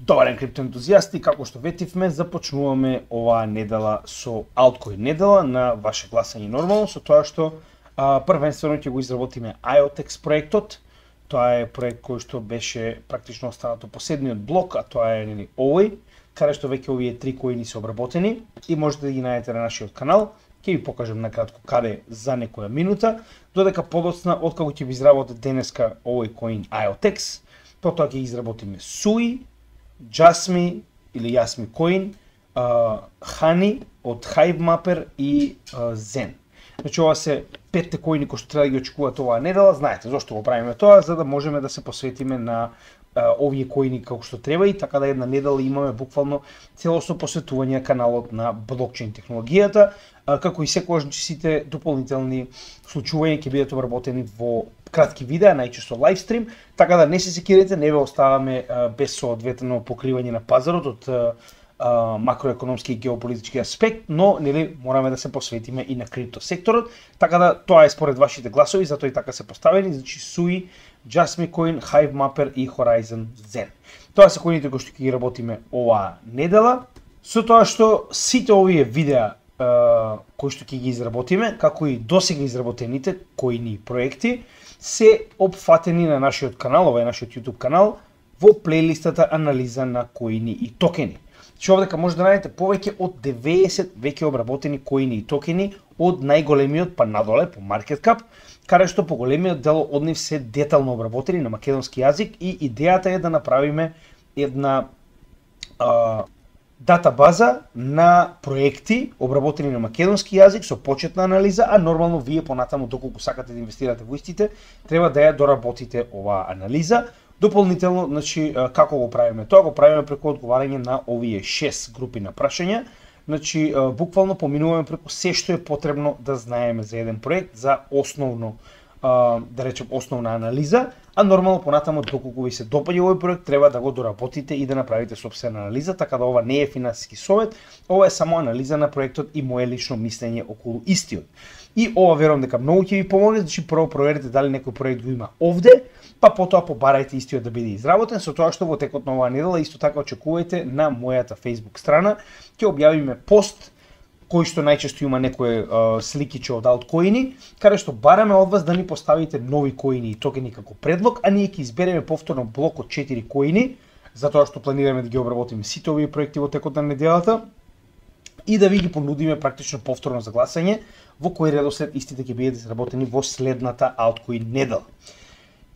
Добар ден, криптоентузијасти, како што ветивме, започнуваме оваа недела со Altcoin недела на ваше гласање нормално, со тоа што првенствено ќе го изработиме IOTEX проектот. Тоа е проект кој што беше практично останато последниот блок, а тоа е овој, каде што веќе овие 3 коини се обработени и можете да ги најдете на нашиот канал. Ќе ви покажам накратко каде за некоја минута, додека подоцна откако ќе ви изработи денеска овој коин IOTEX, потоа ќе изработиме SUI, Jasmy или Jasmy Coin, Honey од Hivemapper и Zen. Значи ова се 5 коини кои што треба да ги очекуваат оваа недела. Знаете зошто го правиме тоа, за да можеме да се посветиме на овие коини како што треба и така да една недела имаме буквално целосно посветување на каналот на блокчейн технологијата, како и секогаш сите дополнителни случувања ќе бидат обработени во кратки видеа, најчесто лайвстрим, така да не се секирате, не ве оставаме без соодветно покривање на пазарот од макроекономски и геополитички аспект, но нели мораме да се посветиме и на крипто секторот, така да тоа е според вашите гласови, затоа и така се поставени, значи SUI, Jasmy Coin, Hivemapper и Horizon Zen. Тоа се коините кои што ќе ги работиме оваа недела, со тоа што сите овие видеа кои што ќе ги изработиме, како и досега изработените коини и проекти, се опфатени на нашиот канал, ова е нашиот YouTube канал, во плейлистата анализа на коини и токени. Значи овдека може да најдете повеќе од 90 веќе обработени коини и токени од најголемиот па надоле по market cap, каде што по големиот дел од нив се детално обработени на македонски јазик и идејата е да направиме една датабаза на проекти обработени на македонски јазик со почетна анализа, а нормално вие понатаму доколку сакате да инвестирате во истите, треба да ја доработите оваа анализа. Дополнително, значи како го правиме тоа? Го правиме преку одговарање на овие 6 групи на прашања. Значи буквално поминуваме преку се што е потребно да знаеме за еден проект, за основно да речем основна анализа, а нормално понатаму доколку ви се допаѓа овој проект, треба да го доработите и да направите сопствена анализа, така да ова не е финансиски совет, ова е само анализа на проектот и мое лично мислење околу истиот. И ова верувам дека многу ќе ви помогне, значи прво проверете дали некој проект го има овде, па потоа побарајте истиот да биде изработен, со тоа што во текот на оваа недела исто така очекувајте на мојата Facebook страна, ќе објавиме пост кој што најчесто има некое сликиче од алткоини, каде што бараме од вас да ни поставите нови коини и токени како предлог, а ние ќе избереме повторно блок од 4 коини, затоа што планираме да ги обработиме сите овие проекти во текот на неделата и да ви ги понудиме практично повторно за гласање, во кој редослед истите ќе бидат изработени во следната алткоин недела.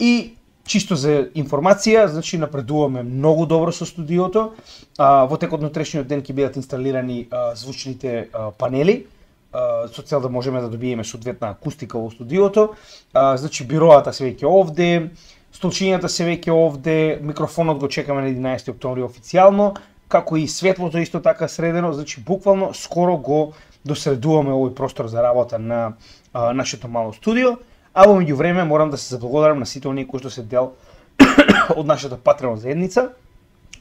И чисто за информација, значи напредуваме многу добро со студиото. Во текот на утрешниот ден ќе бидат инсталирани звучните панели, со цел да можеме да добиеме соодветна акустика во студиото. Значи бироата се веќе овде, столчињата се веќе овде, микрофонот го чекаме на 11 октомври официјално, како и светлото исто така средено, значи буквално скоро го досредуваме овој простор за работа на нашето мало студио. А во меѓувреме морам да се заблагодарам на сите оние кои што се дел од нашата Patreon заедница.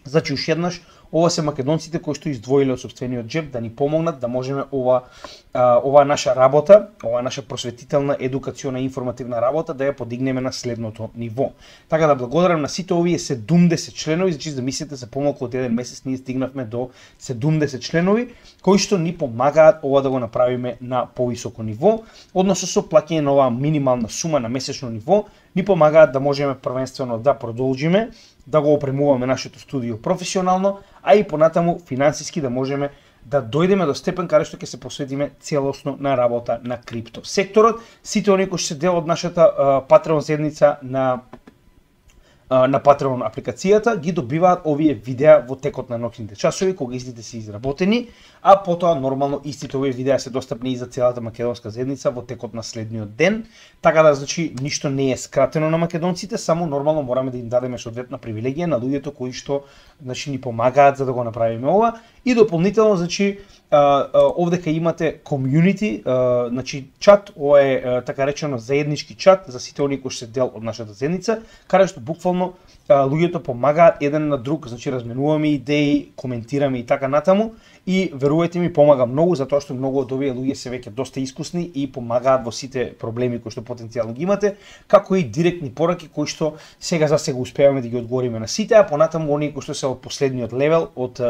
Значи уште еднаш, ова се македонците кои што издвоиле од сопствениот џеб да ни помогнат да можеме ова наша работа, ова наша просветителна, едукациона и информативна работа да ја подигнеме на следното ниво. Така да благодарам на сите овие 70 членови, значи да мислите за помалку од еден месец ние стигнавме до 70 членови кои што ни помагаат ова да го направиме на повисоко ниво, односно со плаќање на оваа минимална сума на месечно ниво, ни помагаат да можеме првенствено да продолжиме, да го опремуваме нашето студио професионално, а и понатаму финансиски да можеме да дојдеме до степен каде што ќе се посветиме целосно на работа на крипто секторот. Сите оние кои што се дел од нашата Patreon заедница на Patreon апликацијата ги добиваат овие видеа во текот на ноќните часови кога истите се изработени, а потоа нормално истите овие видеа се достапни и за целата македонска заедница во текот на следниот ден. Така да значи ништо не е скратено на македонците, само нормално мораме да им дадеме соодветна привилегија на луѓето кои што значи ни помагаат за да го направиме ова. И дополнително значи овдека имате комјунити, значи чат, ова е така речено заеднички чат за сите оние кои што се дел од нашата заедница, каде што буквално буквално луѓето помагаат еден на друг, значи разменуваме идеи, коментираме и така натаму, и верувајте ми помага многу затоа што многу од овие луѓе се веќе доста искусни и помагаат во сите проблеми кои што потенцијално ги имате, како и директни пораки кои што сега за сега успеваме да ги одговориме на сите, а понатаму оние кои што се од последниот левел од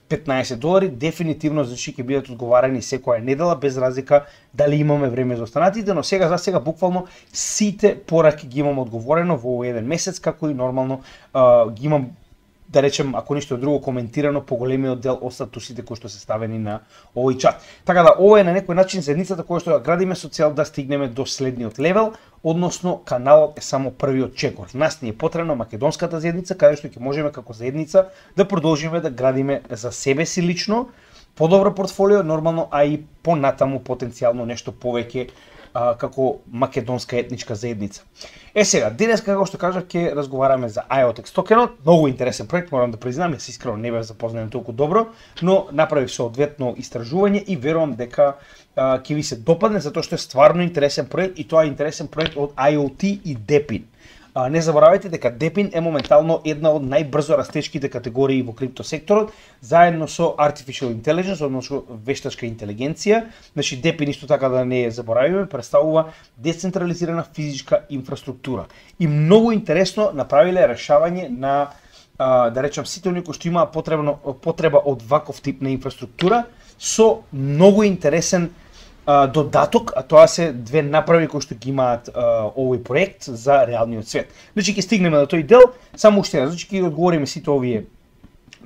$15 дефинитивно значи ќе бидат одговарани секоја недела без разлика дали имаме време за останатите, но сега за сега буквално сите пораки ги имам одговорено во овој еден месец, како и нормално ги имам, да речем, ако ништо друго коментирано по големиот дел од статусите кои што се ставени на овој чат. Така да ова е на некој начин заедницата која што ја градиме со цел да стигнеме до следниот левел, односно каналот е само првиот чекор. Нас ни е потребна македонската заедница каде што ќе можеме како заедница да продолжиме да градиме за себе си лично подобро портфолио, нормално, а и понатаму потенцијално нешто повеќе како македонска етничка заедница. Сега, денес, како што кажав, ќе разговараме за IoTeX токенот. Многу интересен проект, морам да признам, јас искрено не бев запознаен толку добро, но направив соодветно истражување и верувам дека ќе ви се допадне, затоа што е стварно интересен проект и тоа е интересен проект од IoT и DePIN. Не заборавајте дека DePIN е моментално една од најбрзо растечките категории во криптосекторот, заедно со Artificial Intelligence, односно вештачка интелигенција. Значи DePIN исто така да не заборавиме, представува децентрализирана физичка инфраструктура. И многу интересно направиле решавање на да речам сите оние кои што имаат потреба од ваков тип на инфраструктура со многу интересен додаток, а тоа се две направи кои што ги имаат овој проект за реалниот свет. Значи ќе стигнеме до тој дел, само уште еднаш, значи ќе одговориме сите овие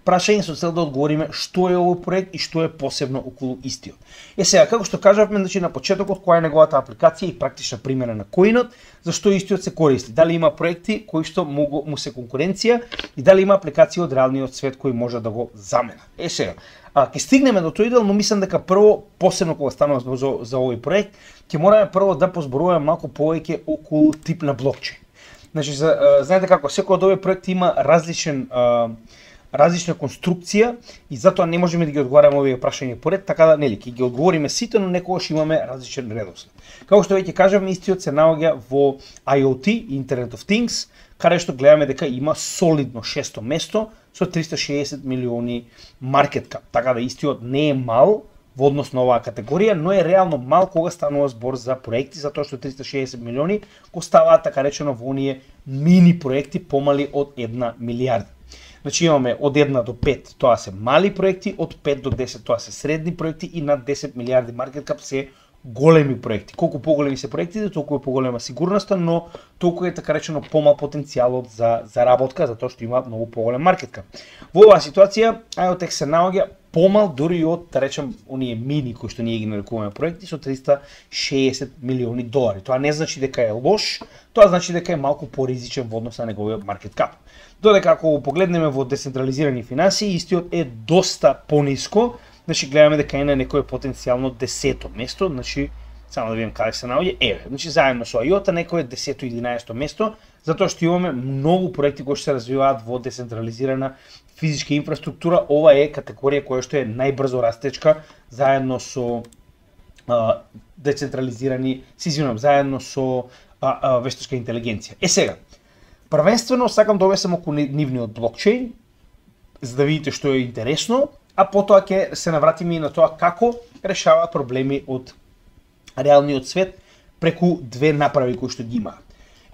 прашања со цел да одговориме што е овој проект и што е посебно околу истиот. Сега, како што кажавме, значи на почетокот која е неговата апликација и практична примена на коинот, зашто истиот се користи, дали има проекти кои што му се конкуренција и дали има апликација од реалниот свет кои може да го замена. Сега, ќе стигнеме до тој дел, но мислам дека прво, посебно кога станува за овој проект, ќе мораме прво да позборуваме малку повеќе околу тип на блокчейн. Значи, знаете како, секој од овие проекти има различна конструкција и затоа не можеме да ги одговараме овие прашања поред, така да нели ќе ги одговориме сите, но некогаш имаме различен редослед. Како што веќе кажавме, истиот се наоѓа во IoT, Internet of Things, каде што гледаме дека има солидно 6-то место со 360 милиони market cap. Така да истиот не е мал во однос на оваа категорија, но е реално мал кога станува збор за проекти, затоа што 360 милиони го ставаат така речено во оние мини проекти помали од 1 милиарда. Значи имаме од 1 до 5, тоа се мали проекти, од 5 до 10 тоа се средни проекти и над 10 милиарди market cap се големи проекти. Колку поголеми се проектите, толку е поголема сигурноста, но толку е така речено помал потенцијалот за заработка, затоа што има многу поголем market cap. Во оваа ситуација IoTeX се наоѓа помал дури од, да речем, оние мини кои што ние ги нарекуваме проекти со 360 милиони долари. Тоа не значи дека е лош, тоа значи дека е малку поризичен во однос на неговиот market cap. Додека ако го погледнеме во децентрализирани финанси, истиот е доста пониско. Значи гледаме дека е на некое потенцијално 10-то место, значи само да видим каде се наоѓа, значи заедно со IOTA некое 10-то и 11-то место, затоа што имаме многу проекти кои што се развиваат во децентрализирана физичка инфраструктура. Ова е категорија која што е најбрзо растечка заедно со заедно со вештачка интелигенција. Сега, првенствено сакам да објаснам околу нивниот блокчейн, за да видите што е интересно, а потоа ќе се навратиме и на тоа како решаваат проблеми од реалниот свет преку две направи кои што ги имаат.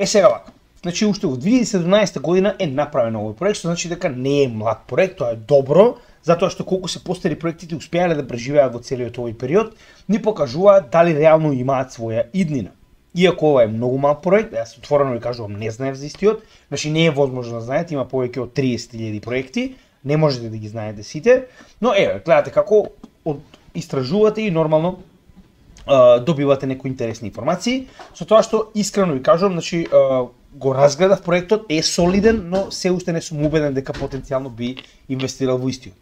Сега вака, значи уште во 2017 година е направен овој проект, што значи дека не е млад проект, тоа е добро, затоа што колку се постари проектите успеале да преживеат во целиот овој период, ни покажуваат дали реално имаат своја иднина. Иако ова е многу мал проект, јас отворено ви кажувам, не знаев за истиот, значи не е возможно да знаете, има повеќе од 30.000 проекти, не можете да ги знаете сите, но гледате како истражувате и нормално добивате некои интересни информации, со тоа што искрено ви кажувам, значи го разгледав проектот, е солиден, но се уште не сум убеден дека потенцијално би инвестирал во истиот.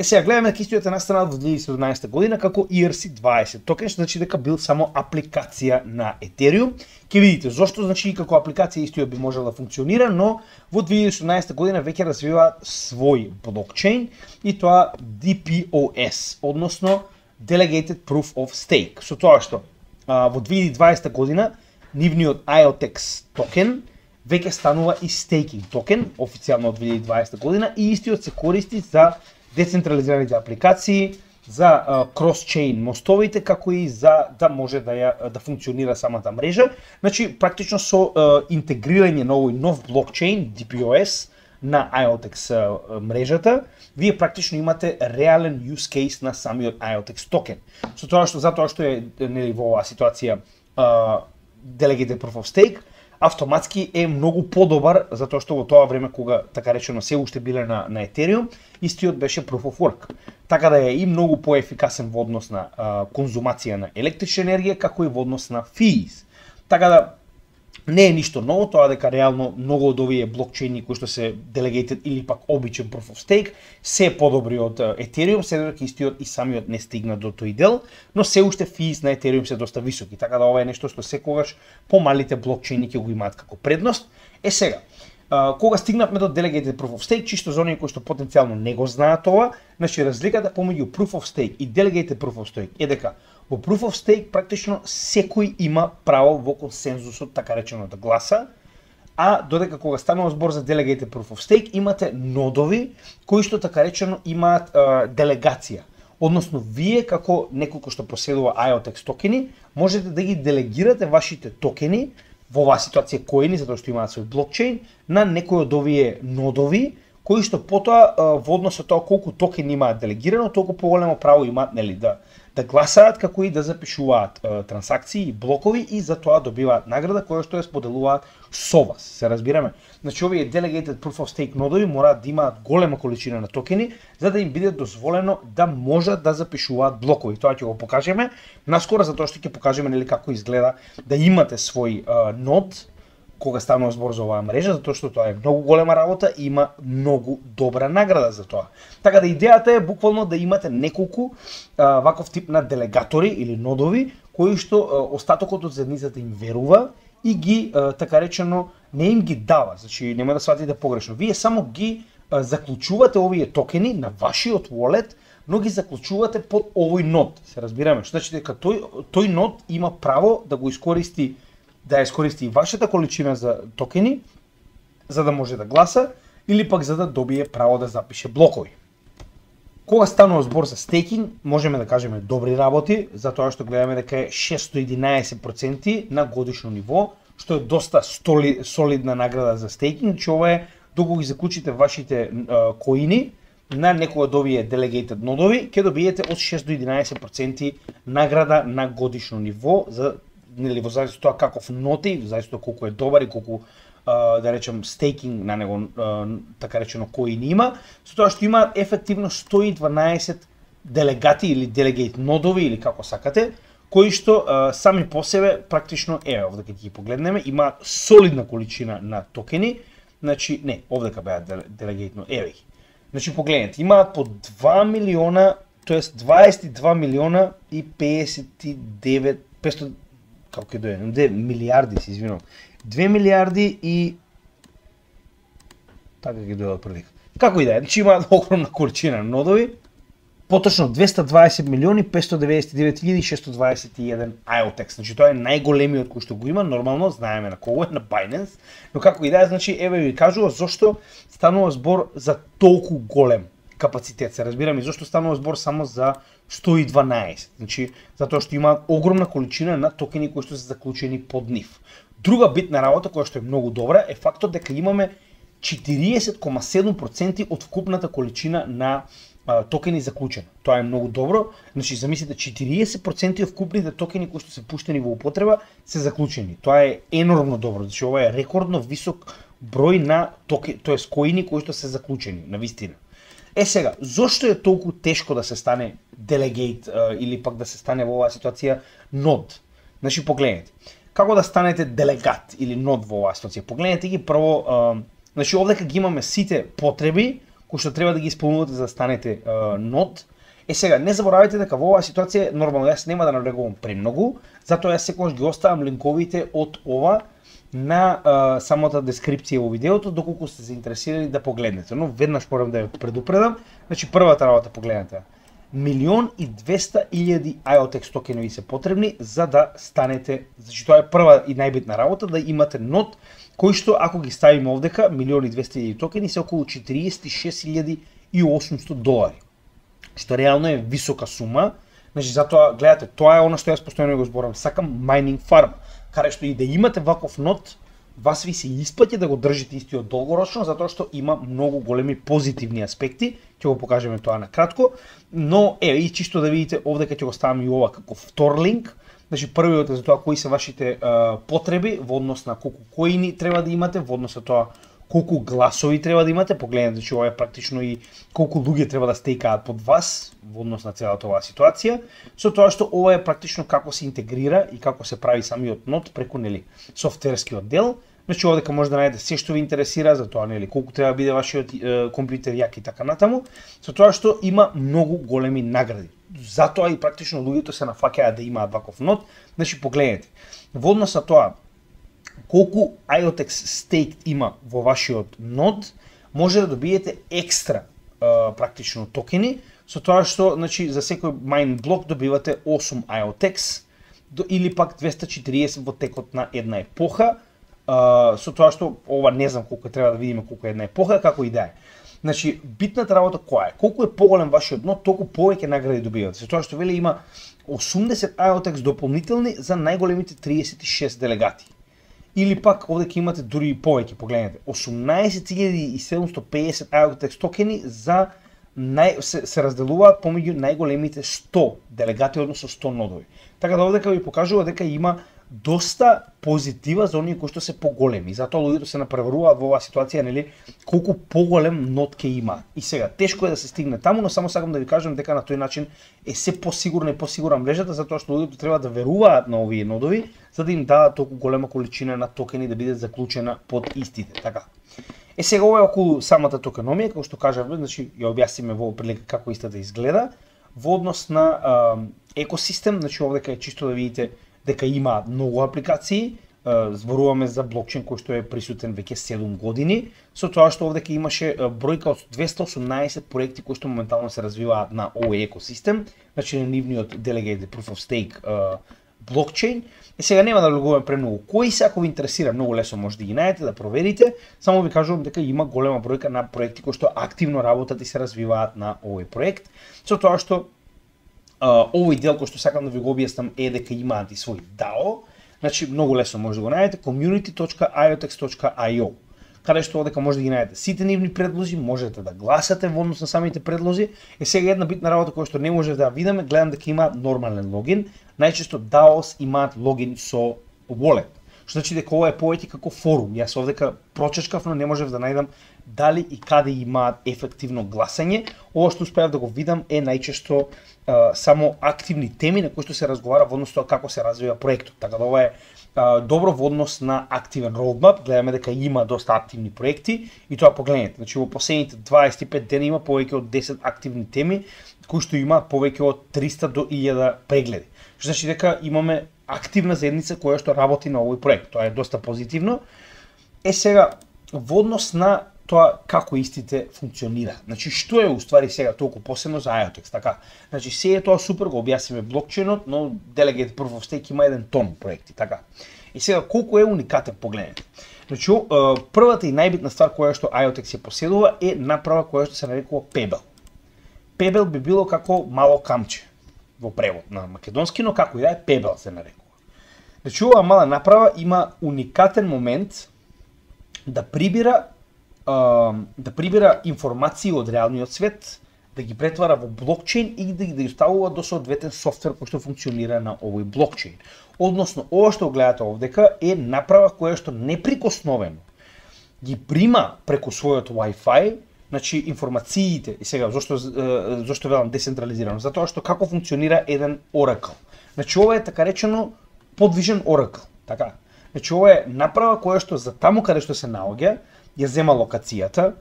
Сега гледаме дека истиот е настанал во 2017 година како ERC-20 токен, што значи дека бил само апликација на Ethereum. Ќе видите зошто, значи како апликација истиот би можел да функционира, но во 2018 година веќе развива свој блокчейн и тоа DPoS, односно Delegated Proof of Stake. Со тоа што во 2020 година нивниот IoTeX токен веќе станува и стейкинг токен, официјално од 2020 година, и истиот се користи за децентрализираните апликации, за крос-чейн мостовите, како и за да може да функционира самата мрежа. Значи, практично со интегрирање на овој нов блокчейн, DPoS, на IOTX мрежата, вие практично имате реален use case на самиот IOTX токен. Затоа што е нели во оваа ситуација Delegated Proof of Stake, автоматски е многу подобар, затоа што во тоа време кога така речено се уште биле на Ethereum, истиот беше Proof of Work. Така да е и многу поефикасен во однос на конзумација на електрична енергија, како и во однос на fees. Така да не е ништо ново, тоа дека реално многу од овие блокчейни кои што се delegated или пак обичен Proof of Stake се подобри од Ethereum, се додека истиот и самиот не стигна до тој дел, но се уште fees на Ethereum се доста високи, така да ова е нешто што секогаш помалите блокчейни ќе го имаат како предност. Сега, кога стигнавме до Delegated Proof of Stake, чисто за оние кои што потенцијално не го знаат ова, значи разликата помеѓу Proof of Stake и Delegated Proof of Stake е дека во Proof of Stake практично секој има право во консензусот, така реченото гласа, а додека кога станува збор за Delegated Proof of Stake имате нодови кои што така речено имаат делегација. Односно, вие како некој кој што поседува IOTX токени, можете да ги делегирате вашите токени, во оваа ситуација коини, затоа што имаат свој блокчейн, на некој од овие нодови, кои што потоа во однос со тоа колку токени имаат делегирано, толку поголемо право имаат нели да гласаат, како и да запишуваат трансакции и блокови, и за тоа добиваат награда која што ја споделуваат со вас. Се разбираме? Значи овие Delegated Proof of Stake нодови мораат да имаат голема количина на токени за да им биде дозволено да можат да запишуваат блокови. Тоа ќе го покажеме наскоро, затоа што ќе покажеме нели како изгледа да имате свој нод кога станува збор за оваа мрежа, затоа што тоа е многу голема работа и има многу добра награда за тоа. Така да идејата е буквално да имате неколку ваков тип на делегатори или нодови кои што остатокот од заедницата им верува и ги така речено не им ги дава. Значи нема да сватите погрешно. Вие само ги заклучувате овие токени на вашиот wallet, но ги заклучувате под овој нод. Се разбираме? Што значи дека тој нод има право да го искористи, да ја искористи вашата количина за токени, за да може да гласа, или пак за да добие право да запише блокови. Кога станува збор за стейкинг, можеме да кажеме добри работи, затоа што гледаме дека е 611% на годишно ниво, што е доста солидна награда за стейкинг, че ова е доколку ги заклучите вашите коини на некој од овие delegated нодови, ќе добиете од 6 до 11% награда на годишно ниво за нели во зависност од тоа каков ноти, во зависност од колку е добар и колку да речем стейкинг на него така речено коини има, со тоа што има ефективно 112 делегати или delegate нодови или како сакате, кои што сами по себе практично овде ќе ги погледнеме, има солидна количина на токени, значи не, овдека беа delegate нодови. Значи погледнете, имаат по 2 милиона, тоест 22 милиона и 59 500 како ќе дојде, милиарди, се извинувам. 2 милиарди и така ќе дојде прилика. Како и да е, значи имаат огромна количина нодови, поточно 220 милиони 599.621 IOTX. Значи тоа е најголемиот кој што го има, нормално знаеме на кого е, на Binance, но како и да е, значи еве ви кажува зошто станува збор за толку голем капацитет, се разбираме, и зошто станува збор само за 112. Значи, затоа што имаат огромна количина на токени кои што се заклучени под нив. Друга битна работа која што е многу добра е фактот дека имаме 40,7% од вкупната количина на токени заклучени. Тоа е многу добро. Значи, замислите, 40% од вкупните токени кои што се пуштени во употреба се заклучени. Тоа е енормно добро. Значи, ова е рекордно висок број на токени, тоест коини кои што се заклучени, на вистина. Сега, зошто е толку тешко да се стане delegate или пак да се стане во оваа ситуација нод? Значи, погледнете. Како да станете делегат или нод во оваа ситуација? Погледнете ги прво, значи овдека ги имаме сите потреби кои што треба да ги исполнувате за да станете нод. Сега, не заборавајте дека во оваа ситуација нормално јас нема да навлегувам премногу, затоа јас секогаш ги оставам линковите од ова на самата дескрипција во видеото, доколку сте заинтересирани да погледнете. Но веднаш морам да ја предупредам. Значи првата работа погледнете. 1.200.000 IOTX токени се потребни за да станете, значи тоа е прва и најбитна работа, да имате нод кои што ако ги ставиме овдека, 1.200.000 токени се околу $46.800, што реално е висока сума. Значи затоа гледате, тоа е она што јас постојано го зборам, сакам майнинг фарм, каде што и да имате ваков нод, вас ви се исплаќа да го држите истиот долгорочно, затоа што има многу големи позитивни аспекти, ќе го покажеме тоа на кратко, но и чисто да видите овдека ќе го ставам и ова како втор линк. Значи првиот е за тоа кои се вашите потреби во однос на колку коини треба да имате, во однос на тоа колку гласови треба да имате, погледнете, значи ова е практично и колку луѓе треба да стекаат под вас во однос на целата оваа ситуација, со тоа што ова е практично како се интегрира и како се прави самиот нод преку софтверскиот дел. Значи овдека може да најдете се што ви интересира за тоа, колку треба да биде вашиот компјутер јак и така натаму, со тоа што има многу големи награди. Затоа и практично луѓето се нафаќаат да имаат ваков нод. Значи погледнете, во однос на тоа колку IOTX стейк има во вашиот нод, може да добиете екстра практично токени, со тоа што значи за секој майн блок добивате 8 IOTX или пак 240 во текот на една епоха, со тоа што ова не знам колку треба да видиме колку е една епоха, како и да е. Значи битната работа која е? Колку е поголем вашиот нод, толку повеќе награди добивате. Со тоа што вели има 80 IOTX дополнителни за најголемите 36 делегати. Или пак овде имате дури и повеќе, погледнете, 18.750 IOTX токени за се разделуваат помеѓу најголемите 100 делегати, односно 100 нодови. Така да овдека ви покажува дека има доста позитива за оние кои што се поголеми. Затоа луѓето се напреваруваат во оваа ситуација, нели, колку поголем нод ќе има. И сега тешко е да се стигне таму, но само сакам да ви кажам дека на тој начин е се посигурна и посигурна мрежата, затоа што луѓето треба да веруваат на овие нодови, за да им дадат толку голема количина на токени да биде заклучена под истите. Така. Сега ова е околу самата токеномија, како што кажавме, значи ја објасниме во прилика како истата изгледа. Во однос на екосистем, значи овдека е чисто да видите дека има многу апликации, зборуваме за блокчейн кој што е присутен веќе 7 години, со тоа што овдека имаше бројка од 218 проекти кои што моментално се развиваат на овој екосистем, значи на нивниот Delegated Proof of Stake блокчейн. И сега нема да влегуваме премногу кои се, ако ви интересира, многу лесно може да ги најдете, да проверите. Само ви кажувам дека има голема бројка на проекти кои што активно работат и се развиваат на овој проект, со тоа што овој дел кој што сакам да ви го објаснам е дека имаат и свој DAO, значи многу лесно може да го најдете, community.iotex.io, каде што одека може да ги најдете сите нивни предлози, можете да гласате во однос на самите предлози. Е сега една битна работа која што не може да ја видиме, гледам дека има нормален логин. Најчесто DAOs имаат логин со wallet, што значи дека ова е повеќе како форум. Јас овдека прочечкав, но не можев да најдам дали и каде имаат ефективно гласање. Ова што успеав да го видам е најчесто само активни теми на кои што се разговара во однос тоа како се развива проектот. Така да ова е добро во однос на активен roadmap. Гледаме дека има доста активни проекти и тоа погледнете. Значи во последните 25 дена има повеќе од 10 активни теми кои што имаат повеќе од 300 до 1000 прегледи. Што значи дека имаме активна заедница која што работи на овој проект. Тоа е доста позитивно. Сега во однос на тоа како истите функционира. Значи што е уствари сега толку посебно за IOTX, така? Значи се е тоа супер, го објасниме блокчейнот, но Delegated Proof of Stake има еден тон проекти, така? И сега колку е уникатен, погледнете. Значи првата и најбитна ствар која што IOTX ја поседува е направа која што се нарекува Pebble. Pebble би било како мало камче во превод на македонски, но како и да е, Pebble се нарекува. Значи оваа мала направа има уникатен момент да прибира информации од реалниот свет, да ги претвара во блокчейн и да ги ставува до соодветен софтвер кој што функционира на овој блокчейн. Односно, ова што гледате овдека е направа која што неприкосновено ги прима преку својот Wi-Fi, значи информациите. И сега зошто велам децентрализирано? Затоа што како функционира еден Oracle. Значи ова е така речено подвижен Oracle, така. Значи ова е направа која што за таму каде што се наоѓа, ја зема локацијата,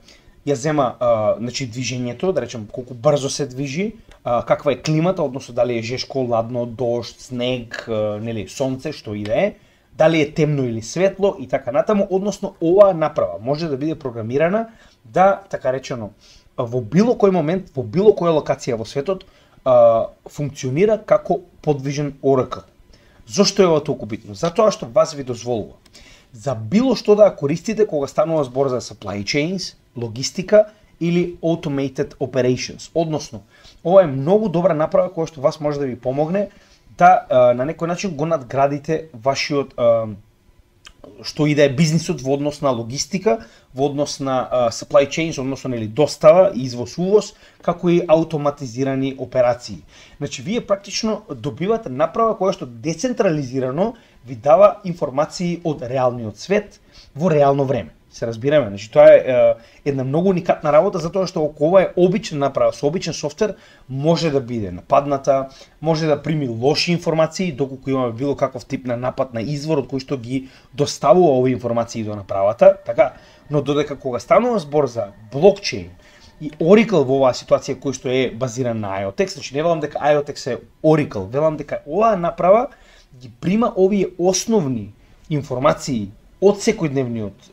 ја зема значи движењето, да речем колку брзо се движи, каква е климата, односно дали е жешко, ладно, дожд, снег, нели, сонце, што и да е, дали е темно или светло и така натаму, односно оваа направа може да биде програмирана да, така речено, во било кој момент, во било која локација во светот функционира како подвижен Oracle. Зошто е ова толку битно? Затоа што вас ви дозволува за било што да користите кога станува збор за supply chains, логистика или automated operations. Односно, ова е многу добра направа која што вас може да ви помогне да на некој начин го надградите вашиот што и да е бизнисот во однос на логистика, во однос на supply chains, односно нели достава, извоз-увоз, како и автоматизирани операции. Значи вие практично добивате направа која што децентрализирано ви дава информации од реалниот свет во реално време. Се разбираме, значи тоа е една многу уникатна работа затоа што ако ова е обична направа со обичен софтвер може да биде нападната, може да прими лоши информации доколку имаме било каков тип на напад на извор од кој што ги доставува овие информации до направата, така, но додека кога станува збор за блокчейн и Oracle во оваа ситуација кој што е базиран на IoTeX, значи не велам дека IoTeX е Oracle, велам дека оваа направа ги прима овие основни информации од секојдневниот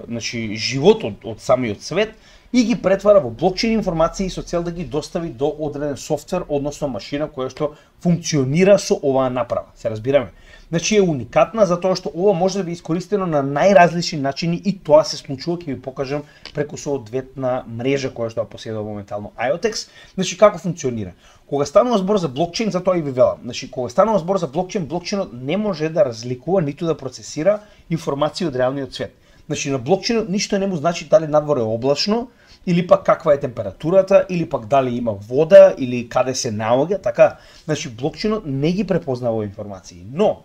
значи живот од самиот свет и ги претвара во блокчейн информации со цел да ги достави до одреден софтвер, односно машина која што функционира со оваа направа. Се разбираме. Значи е уникатна затоа што ова може да биде искористено на најразлични начини и тоа се случува, ќе ви покажам преку соодветна мрежа која што поседува моментално IoTeX. Значи како функционира? Кога станува збор за блокчейн, затоа и ви велам. Значи кога станува збор за блокчейн, блокчейнот не може да разликува ниту да процесира информации од реалниот свет. Значи на блокчейнот ништо не му значи дали надвор е облачно, или пак каква е температурата, или пак дали има вода, или каде се наоѓа, така. Значи блокчейнот не ги препознава информации. Но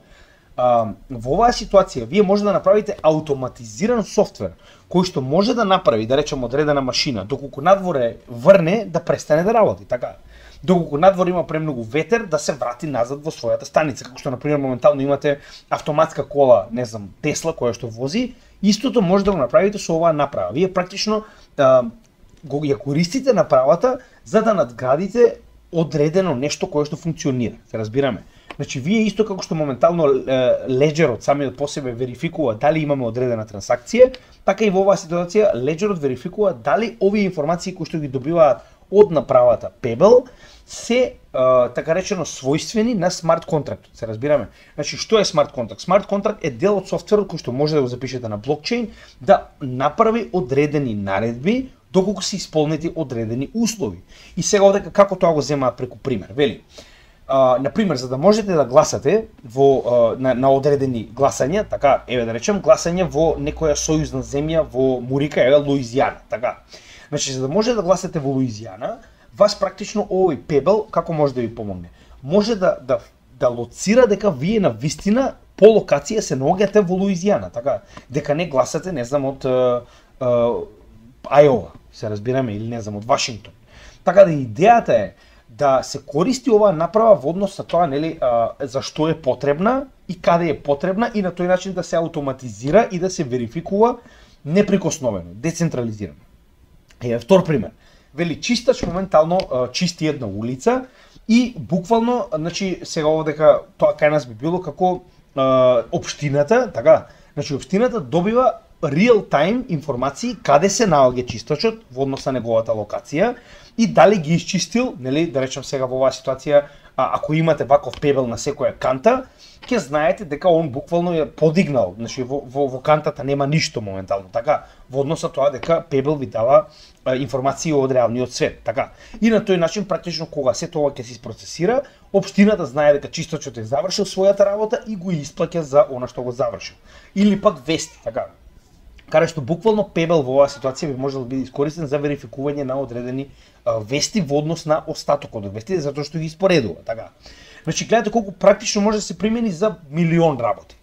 во оваа ситуација вие може да направите автоматизиран софтвер кој што може да направи, да речеме, одредена машина, доколку надвор е врне, да престане да работи, така. Доколку надвор има премногу ветер, да се врати назад во својата станица, како што например моментално имате автоматска кола, не знам, Тесла која што вози, истото може да го направите со оваа направа. Вие практично го ја користите направата за да надградите одредено нешто кое што функционира. Се разбираме. Значи вие исто како што моментално леџерот самиот по себе верификува дали имаме одредена трансакција, така и во оваа ситуација леџерот верификува дали овие информации кои што ги добиваат од направата Pebble се така речено својствени на смарт контрактот. Се разбираме. Значи што е смарт контракт? Смарт контракт е дел од софтверот кој што може да го запишете на блокчейн да направи одредени наредби доколку се исполнети одредени услови. И сега овдека како тоа го земаат преку пример. Вели, например, за да можете да гласате во на одредени гласања, така, еве да речем гласање во некоја сојузна земја во Мурика, еве Луизијана, така. Значи за да можете да гласате во Луизијана, вас практично овој Pebble како може да ви помогне? Може да лоцира дека вие на вистина по локација се наоѓате во Луизијана, така, дека не гласате, не знам, од Ајова, се разбираме, или не знам, од Вашингтон. Така да идејата е да се користи оваа направа во однос на тоа, нели, зашто е потребна и каде е потребна и на тој начин да се автоматизира и да се верификува неприкосновено, децентрализирано. Еве втор пример. Вели чистач моментално чисти една улица и буквално, значи сега овдека тоа кај нас би било како општината, така, значи општината добива real time информации каде се наоѓа чистачот во однос на неговата локација и дали ги исчистил, нели, да речем сега во оваа ситуација, ако имате ваков Pebble на секоја канта, ќе знаете дека он буквално е подигнал, значи во кантата нема ништо моментално, така, во однос на тоа дека Pebble ви дава информации од реалниот свет, така. И на тој начин практично кога се тоа ќе се isprocesира, општината знае дека чистачот е завршил својата работа и го исплаќа за она што го завршил. Или пак вести, така. Каде што буквално Pebble во оваа ситуација би можел да биде искористен за верификување на одредени вести во однос на остатокот од вестите, затоа што ги испоредува, така. Значи гледате колку практично може да се примени за милион работи.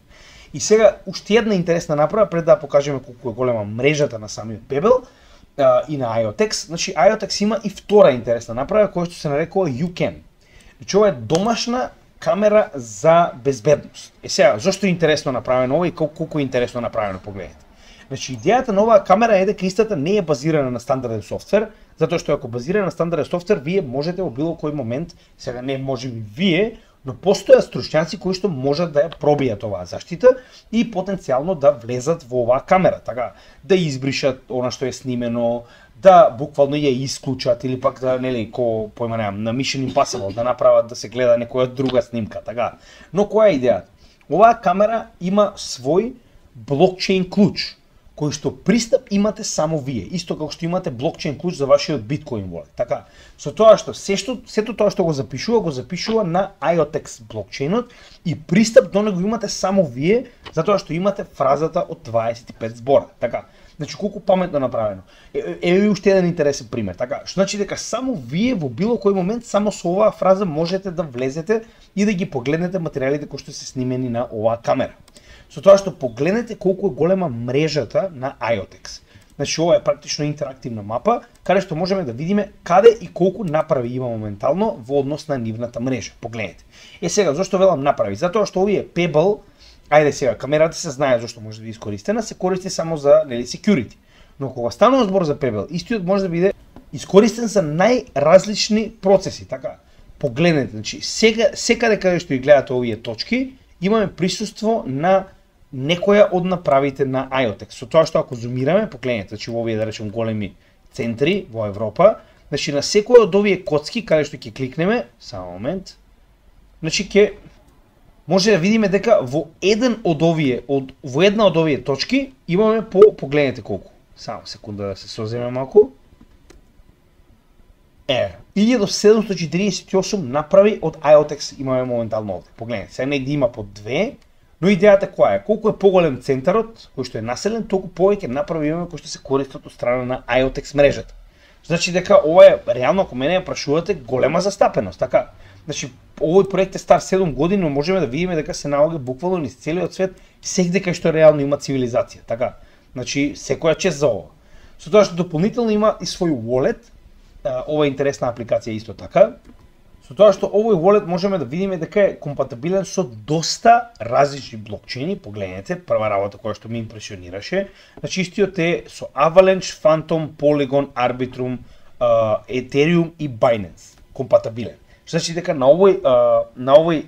И сега уште една интересна направа пред да покажеме колку е голема мрежата на самиот Pebble и на IoTeX. Значи IoTeX има и втора интересна направа која што се нарекува YouCam. Значи ова е домашна камера за безбедност. Сега зошто е интересно направено ова и колку е интересно направено, погледнете. Значи идејата на оваа камера е дека истата не е базирана на стандарден софтвер, затоа што ако базирана на стандарден софтвер, вие можете во било кој момент, сега не можеби вие, но постојат стручњаци кои што можат да ја пробијат оваа заштита и потенцијално да влезат во оваа камера, така, да избришат она што е снимено, да буквално ја исклучат или пак да, нели, ко појма немам, на Mission Impossible да направат да се гледа некоја друга снимка, така. Но која е идејата? Оваа камера има свој блокчейн клуч, кој што пристап имате само вие, исто како што имате блокчейн клуч за вашиот Bitcoin wallet. Така, со тоа што сето тоа што го запишува на IOTX блокчейнот и пристап до него имате само вие, затоа што имате фразата од 25 збора. Така, значи колку паметно направено. Еве уште еден интересен пример. Така, што значи дека само вие во било кој момент само со оваа фраза можете да влезете и да ги погледнете материјалите кои што се снимени на оваа камера. Со тоа што погледнете колку е голема мрежата на IOTX. Значи ова е практично интерактивна мапа, каде што можеме да видиме каде и колку направи има моментално во однос на нивната мрежа. Погледнете. Сега зошто велам направи? Затоа што овие Pebble, ајде сега, камерата се знае зашто може да биде искористена, се користи само за security. Но кога станува збор за Pebble, истиот може да биде искористен за најразлични процеси, така. Погледнете, значи секаде каде што ги гледате овие точки, имаме присуство на некоја од направите на IOTX. Со тоа што ако зумираме, погледнете, значи во овие да речем големи центри во Европа, значи на секој од овие коцки каде што ќе кликнеме, само момент, значи ќе може да видиме дека во една од овие точки имаме погледнете колку. Само секунда да се соземе малку. 1748 направи од IOTX имаме моментално овде. Погледнете, сега негде има по 2, но идејата која е? Колку е поголем центарот, кој што е населен, толку повеќе направи имаме кои што се користат од страна на IOTX мрежата. Значи дека ова е реално, ако мене ја прашувате, голема застапеност, така. Значи овој проект е стар 7 години, но можеме да видиме дека се наоѓа буквално низ целиот свет, секаде кај што реално има цивилизација, така. Значи секоја чест за ова. Со тоа што дополнително има и свој wallet, ова е интересна апликација исто така. Со тоа што овој wallet можеме да видиме дека е компатибилен со доста различни блокчейни. Погледнете, прва работа која што ме импресионираше, значи истиот е со Avalanche, Phantom, Polygon, Arbitrum, Ethereum и Binance компатибилен. Значи дека на овој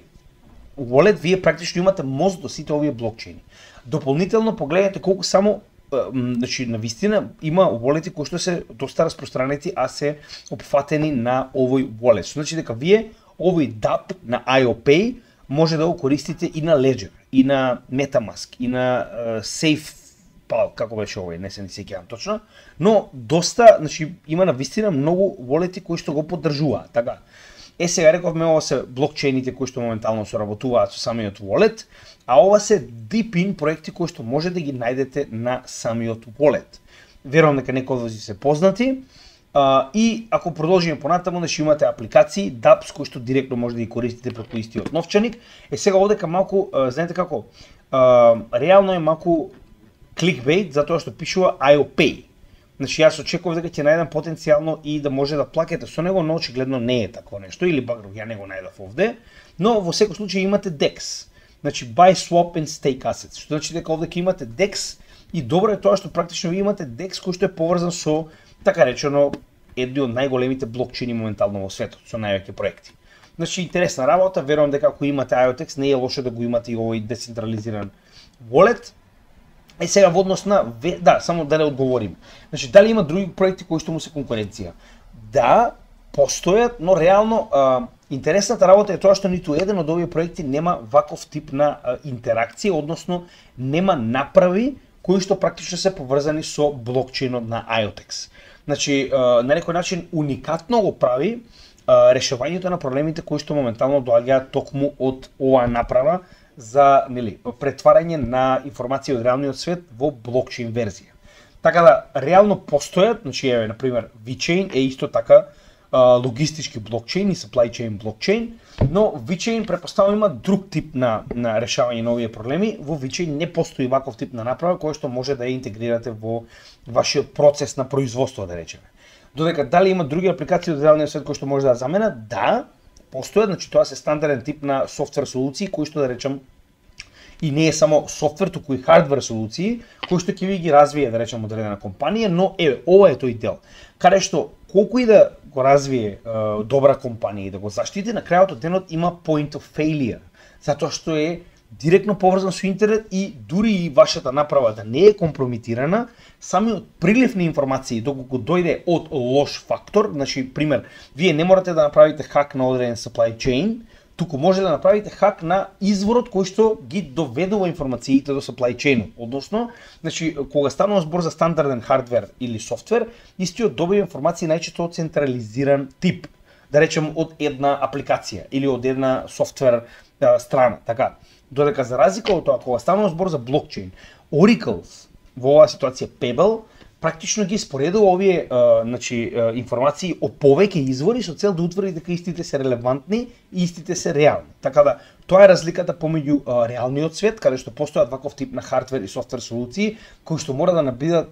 wallet вие практично имате мост до сите овие блокчейни. Дополнително погледнете колку само значи на вистина има wallet-и кои што се доста распространети, а се опфатени на овој wallet. Значи дека вие овој DApp на IOPay може да го користите и на Ledger, и на MetaMask, и на Safe, како беше овој, не се ни сеќавам точно, но доста, значи има на вистина многу wallet-и кои што го поддржуваат, така. Сега рековме ова се блокчейните кои што моментално соработуваат со самиот wallet, а ова се deep-in проекти кои што може да ги најдете на самиот wallet. Верувам дека некои од вас се познати и ако продолжиме понатаму, значи имате апликации, dApps кои што директно може да ги користите преку истиот новчаник. Сега овдека малку, знаете како, реално е малку clickbait затоа што пишува IOPay. Значи јас очекував дека ќе најдам потенцијално и да може да плакете со него, но очигледно не е такво нешто или баг ја не го најдов овде, но во секој случај имате DEX. Значи buy, swap and stake assets. Што значи дека овде ќе имате DEX и добро е тоа што практично ви имате DEX кој што е поврзан со така речено едни од најголемите блокчейни моментално во светот, со највеќе проекти. Значи интересна работа, верувам дека ако имате IOTX не е лошо да го имате и овој децентрализиран wallet. Сега во однос на само да не одговорим. Значи дали има други проекти кои што му се конкуренција? Да, постојат, но реално интересната работа е тоа што ниту еден од овие проекти нема ваков тип на интеракција, односно нема направи кои што практично се поврзани со блокчейнот на IOTX. Значи на некој начин уникатно го прави решавањето на проблемите кои што моментално доаѓаат токму од оваа направа за претварање на информација од реалниот свет во блокчейн верзија. Така да реално постојат, значи еве на пример VeChain е исто така логистички блокчейн и supply chain блокчейн, но VeChain претпоставувам има друг тип на решавање на овие проблеми. Во VeChain не постои ваков тип на направа кој што може да ја интегрирате во вашиот процес на производство, да речеме. Додека дали има други апликации од реалниот свет кои што може да заменат? Да, постојат, значи тоа се стандарден тип на софтвер солуции кои што да речем и не е само софтвер, туку и хардвер солуции кои што ќе ви ги развие да речем одредена компанија, но ова е тој дел. Каде што колку и да го развие добра компанија и да го заштити, на крајот од денот има point of failure, затоа што е директно поврзан со интернет и дури и вашата направа да не е компрометирана, самиот прилив на информации доколку дојде од лош фактор, значи пример, вие не морате да направите хак на одреден supply chain, туку може да направите хак на изворот кој што ги доведува информациите до supply chain. Односно, значи кога станува збор за стандарден хардвер или софтвер, истиот добива информации најчесто од централизиран тип, да речем од една апликација или од една софтвер страна, така. Додека за разлика од тоа кога станува збор за блокчейн, Oracle во оваа ситуација Pebble практично ги споредува овие информации од повеќе извори со цел да утврди дека истите се релевантни и истите се реални. Така да тоа е разликата помеѓу реалниот свет, каде што постојат ваков тип на хардвер и софтвер солуции кои што мора да бидат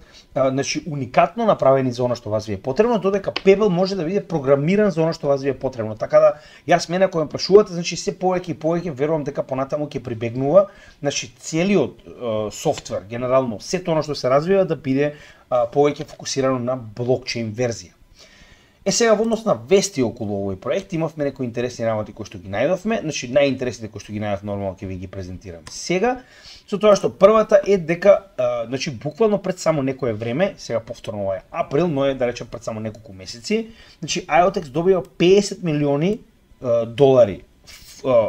уникатно направени за она што вас ви е потребно, додека Pebble може да биде програмиран за она што вас ви е потребно. Така да јас мене кога ме прашувате, значи се повеќе и повеќе верувам дека понатаму ќе прибегнува, значи целиот софтвер генерално сето она што се развива да биде повеќе фокусирано на блокчейн верзија. Сега во однос на вести околу овој проект имавме некои интересни работи кои што ги најдовме, значи најинтересните кои што ги најдов нормално ќе ви ги презентирам сега, со тоа што првата е дека значи буквално пред само некое време, сега повторно ова е април, но е да речем пред само неколку месеци, значи IoTeX добива 50 милиони долари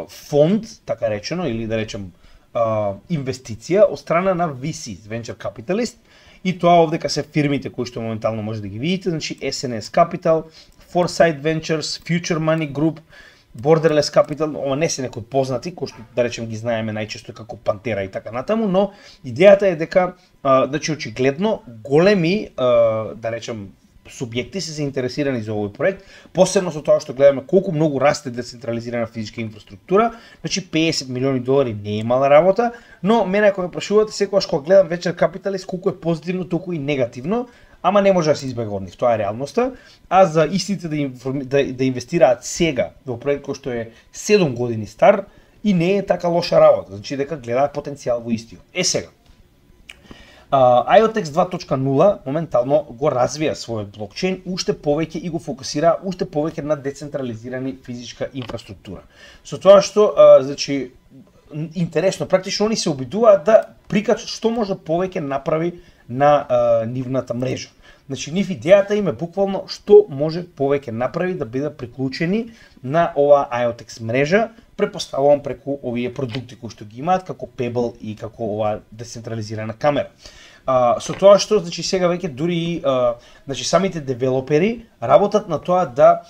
фонд, така речено, или да речем инвестиција од страна на VC, Venture Capitalist. И тоа овдека се фирмите кои што моментално може да ги видите, значи SNS Capital, Foresight Ventures, Future Money Group, Borderless Capital, ова не се некои познати, кои што да речем ги знаеме најчесто како Пантера и така натаму, но идејата е дека значи очигледно големи да речем субјекти се заинтересирани за овој проект, посебно со тоа што гледаме колку многу расте децентрализирана физичка инфраструктура, значи 50 милиони долари не е мала работа, но мене ако ме прашувате секогаш кога гледам Venture Capitalist колку е позитивно, толку и негативно, ама не може да се избега од нив, тоа е реалноста, а за истите да инвестираат сега во проект кој што е 7 години стар и не е така лоша работа, значи дека гледаат потенцијал во истиот. Сега, IoTeX 2.0 моментално го развија својот блокчейн уште повеќе и го фокусира уште повеќе на децентрализирани физичка инфраструктура. Со тоа што значи интересно, практично они се обидуваат да прикажат што може повеќе направи на нивната мрежа. Значи нив идејата им е буквално што може повеќе направи да бидат приклучени на оваа IoTeX мрежа, препоставувам преку овие продукти кои што ги имаат како Pebble и како оваа децентрализирана камера. Со тоа што значи сега веќе дури значи самите девелопери работат на тоа да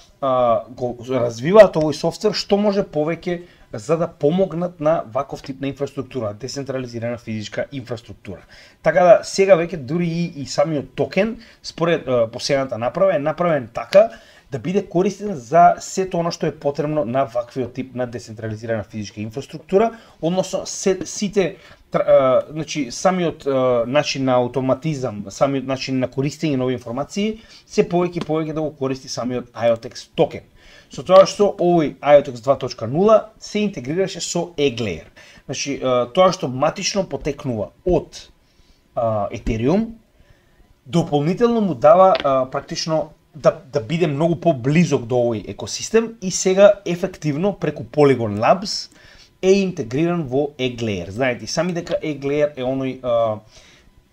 го развиваат овој софтвер што може повеќе за да помогнат на ваков тип на инфраструктура, децентрализирана физичка инфраструктура. Така да сега веќе дури и самиот токен според последната направа е направен така да биде користен за сето оно што е потребно на ваквиот тип на децентрализирана физичка инфраструктура, односно сите значи самиот начин на автоматизам, самиот начин на користење на овие информации се повеќе и повеќе да го користи самиот IoTeX токен. Со тоа што овој IoTeX 2.0 се интегрираше со Egglayer. Значи тоа што матично потекнува од Ethereum дополнително му дава практично да биде многу поблизок до овој екосистем и сега ефективно преку Polygon Labs е интегриран во Egglayer. Знаете сами дека Egglayer е оној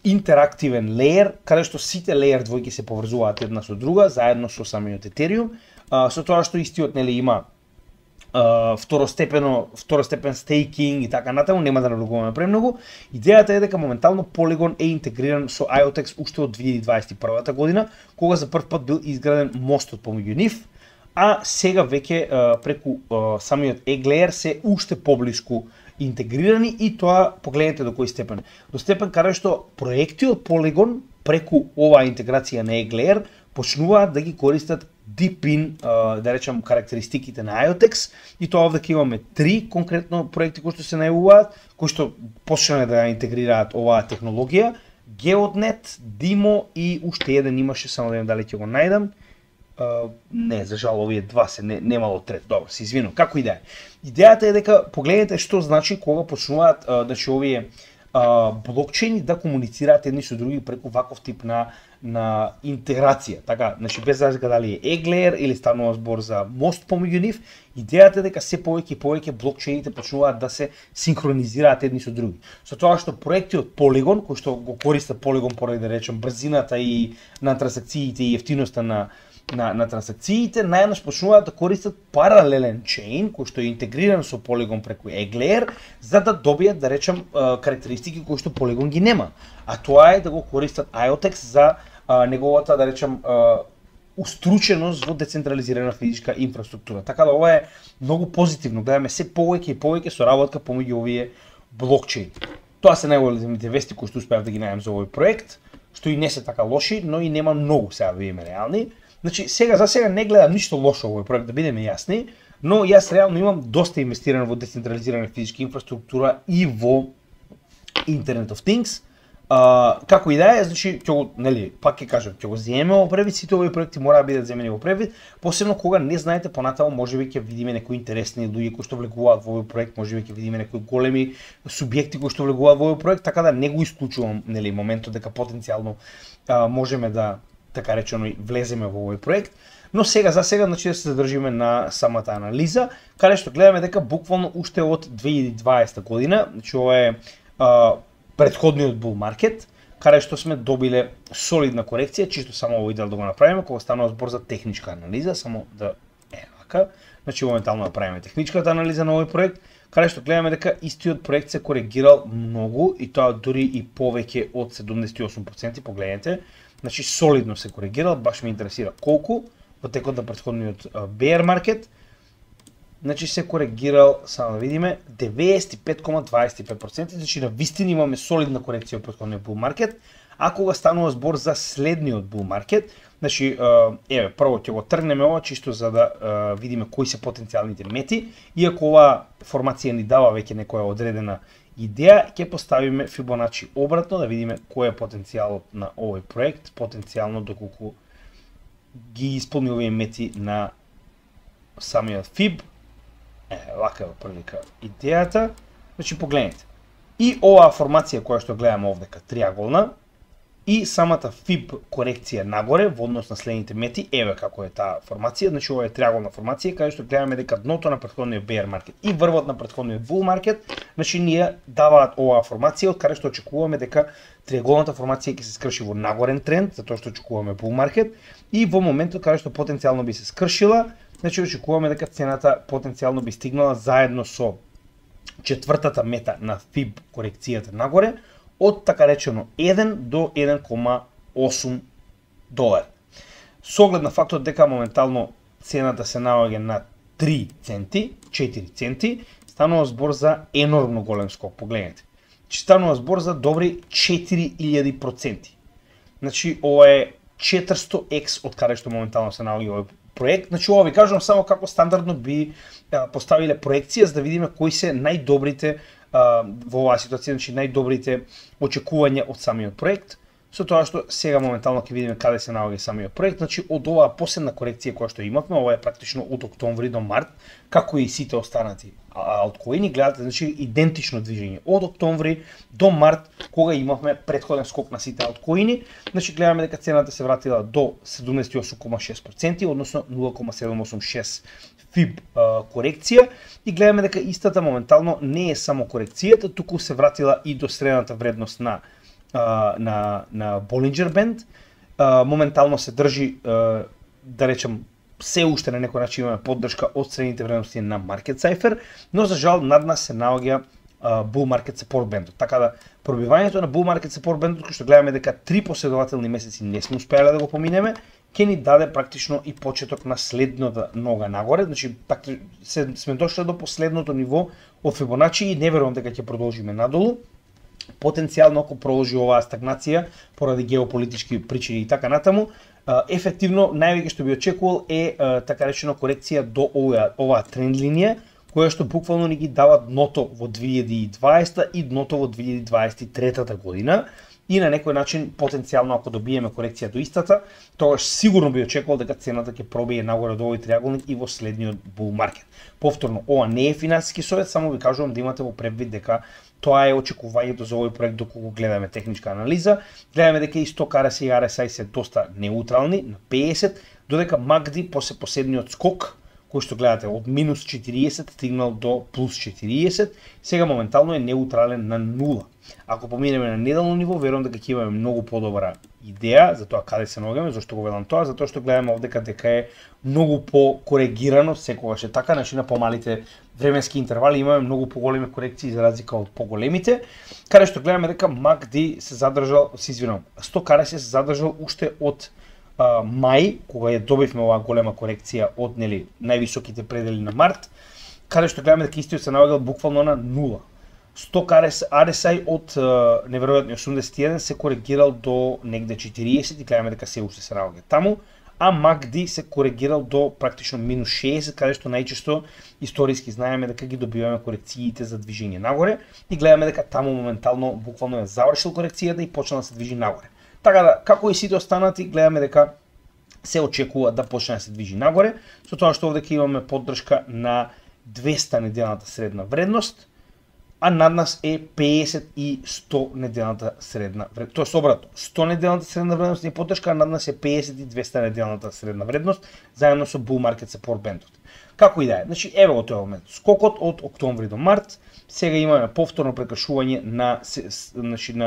интерактивен леер каде што сите леер двојки се поврзуваат една со друга заедно со самиот Ethereum, со тоа што истиот нели има второстепен стейкинг и така натаму, нема да навлегуваме премногу. Идејата е дека моментално Polygon е интегриран со IoTeX уште од 2021 година, кога за прв пат бил изграден мостот помеѓу нив, а сега веќе преку самиот Egglayer се уште поблиску интегрирани и тоа погледнете до кој степен. До степен каде што проекти од Polygon преку оваа интеграција на Egglayer почнуваат да ги користат deep-in, да речем, карактеристиките на IoTeX и тоа овде имаме 3 конкретно проекти кои што се најавуваат, кои што почнале да интегрираат оваа технологија, GeoNet, Dimo и уште еден имаше, само да видам дали ќе го најдам. Не, за жал овие два се немало трет. Добро, се извинувам. Како и да е. Идејата е дека погледнете што значи кога почнуваат значи овие блокчейни да комуницираат едни со други преку ваков тип на интеграција. Така, значи без разлика дали е Egglayer или станува збор за мост помеѓу нив, идејата е дека се повеќе и повеќе блокчейните почнуваат да се синхронизираат едни со други. Со тоа што проекти од Polygon, кои што го користат Polygon поради да речем брзината и на трансакциите и ефтиноста на на трансакциите, најнаш почнуваат да користат паралелен чейн кој што е интегриран со Polygon преку Egglayer, за да добијат, да речем, карактеристики кои што Polygon ги нема. А тоа е да го користат IOTEX за неговата, да речем, уструченост во децентрализирана физичка инфраструктура. Така да ова е многу позитивно. Гледаме се повеќе и повеќе соработка помеѓу овие блокчейн. Тоа се најголемите вести кои што успеав да ги најдам за овој проект, што и не се така лоши, но и нема многу, сега да видиме реални. Значи, за сега не гледам ништо лошо овој проект, да бидеме јасни, но јас реално имам доста инвестирано во децентрализирана физичка инфраструктура и во Internet of Things. Како и да е, значи, пак ќе кажам, ќе го земеме во превид, сите овои проекти мора да бидат земени во превид, посебно кога не знаете понатаму, можеби ќе видиме некои интересни луѓе кои што влегуваат во овој проект, можеби ќе видиме некои големи субјекти кои што влегуваат во овој проект, така да не го исклучувам, моментот дека потенцијално можеме да, така речено, влеземе во овој проект. Но за сега, значи, да се задржиме на самата анализа, каде што гледаме дека буквално уште од 2020 година, значи ова е предходниот bull market, каде што сме добиле солидна корекција, чисто само овој дел да го направиме, кога станува збор за техничка анализа, само да вака. Значи моментално направиме техничката анализа на овој проект, каде што гледаме дека истиот проект се коригирал многу и тоа дури и повеќе од 78%, погледнете. Значи солидно се коригирал, баш ме интересира колку во текот на претходниот bear market. Значи се коригирал, само да видиме, 95,25%, значи на вистина имаме солидна корекција во претходниот bull market, а кога станува збор за следниот bull market, значи, прво ќе го тргнеме ова, чисто за да видиме кои се потенцијалните мети, иако ова формација ни дава веќе некоја одредена идеја, ќе поставиме Fibonacci обратно, да видиме кој е потенцијалот на овој проект, потенцијално доколку ги исполни овие мети на самиот Fib. Вака е прилика идејата. Значи погледнете. И оваа формација која што гледаме овдека, триаголна, и самата Fib корекција нагоре во однос на следните мети, еве како е таа формација, значи ова е триаголна формација каде што гледаме дека дното на претходниот bear market и врвот на претходниот bull market, значи ние даваат оваа формација од каде што очекуваме дека триаголната формација ќе се скрши во нагорен тренд, затоа што очекуваме bull market, и во моментот каде што потенцијално би се скршила, значи очекуваме дека цената потенцијално би стигнала заедно со четвртата мета на Fib корекцијата нагоре од така речено 1 до 1,8 долар. Со оглед на фактот дека моментално цената се наоѓа на 3 центи, 4 центи, станува збор за енормно голем скок, погледнете. Станува збор за добри 4000%. Значи ова е 400x од каде што моментално се наоѓа овој проект. Значи ова ви кажувам само како стандардно би поставиле проекција за да видиме кои се најдобрите во оваа ситуација, значи најдобрите очекувања од самиот проект. Со тоа што сега моментално ќе видиме каде се наоѓа самиот проект, значи од оваа последна корекција која што имавме, ова е практично од октомври до март, како и сите останати алткоини, гледате, значи идентично движење од октомври до март, кога имавме претходен скок на сите алткоини, значи гледаме дека цената се вратила до 78,6%, односно 0,786 Fib корекција, и гледаме дека истата моментално не е само корекцијата, туку се вратила и до средната вредност на Bollinger Band. Моментално се држи, да речем, се уште на некој начин имаме поддршка од средните вредности на Market Cipher, но за жал над нас се наоѓа Bull Market Support Band. Така да пробивањето на Bull Market Support Band, кој што гледаме дека 3 последователни месеци не сме успеале да го поминеме, ќе ни даде практично и почеток на следната нога нагоре, значи сме дошли до последното ниво од Fibonacci и не верувам дека ќе продолжиме надолу. Потенцијално ако продолжи оваа стагнација поради геополитички причини и така натаму, ефективно највеќе што би очекувал е така речено корекција до оваа тренд линија, која што буквално ни ги дава дното во 2020 и дното во 2023 година. И на некој начин потенцијално ако добиеме корекција до истата, тогаш сигурно би очекувал дека цената ќе пробие нагоре од овој триаголник и во следниот bull market. Повторно, ова не е финансиски совет, само ви кажувам да имате во предвид дека тоа е очекувањето за овој проект доколку гледаме техничка анализа. Гледаме дека и Stock RSI и RSI се доста неутрални на 50, додека MACD после последниот скок кој што гледате од минус 40 стигнал до плюс 40, сега моментално е неутрален на 0. Ако поминеме на неделно ниво, верувам дека ќе имаме многу подобра идеја за тоа каде се наоѓаме. Зошто го велам тоа? Затоа што гледаме овде дека е многу покоригирано, секогаш е така, значи на помалите временски интервали имаме многу поголеми корекции за разлика од поголемите, каде што гледаме дека MACD се задржал, Stochastic се задржал уште од мај, кога ја добивме оваа голема корекција од највисоките предели на март, каде што гледаме дека истиот се наоѓал буквално на 0. Stochastic RSI од неверојатни 81 се коригирал до негде 40 и гледаме дека се уште се наоѓа таму, а MACD се коригирал до практично минус 60, каде што најчесто историски знаеме дека ги добиваме корекциите за движење нагоре и гледаме дека таму моментално буквално е завршил корекцијата и почна да се движи нагоре. Така да, како и сите останати, гледаме дека се очекува да почне да се движи нагоре, со тоа што овде имаме поддршка на 200 неделната средна вредност, а над нас е 50 и 100 неделната средна вредност. Тоа е обратно, 100 неделната средна вредност е поддршка, а над нас е 50 и 200 неделната средна вредност, заедно со Bull Market Support бендот. Како и да е, значи еве во тој момент, скокот од октомври до март, сега имаме повторно прекршување на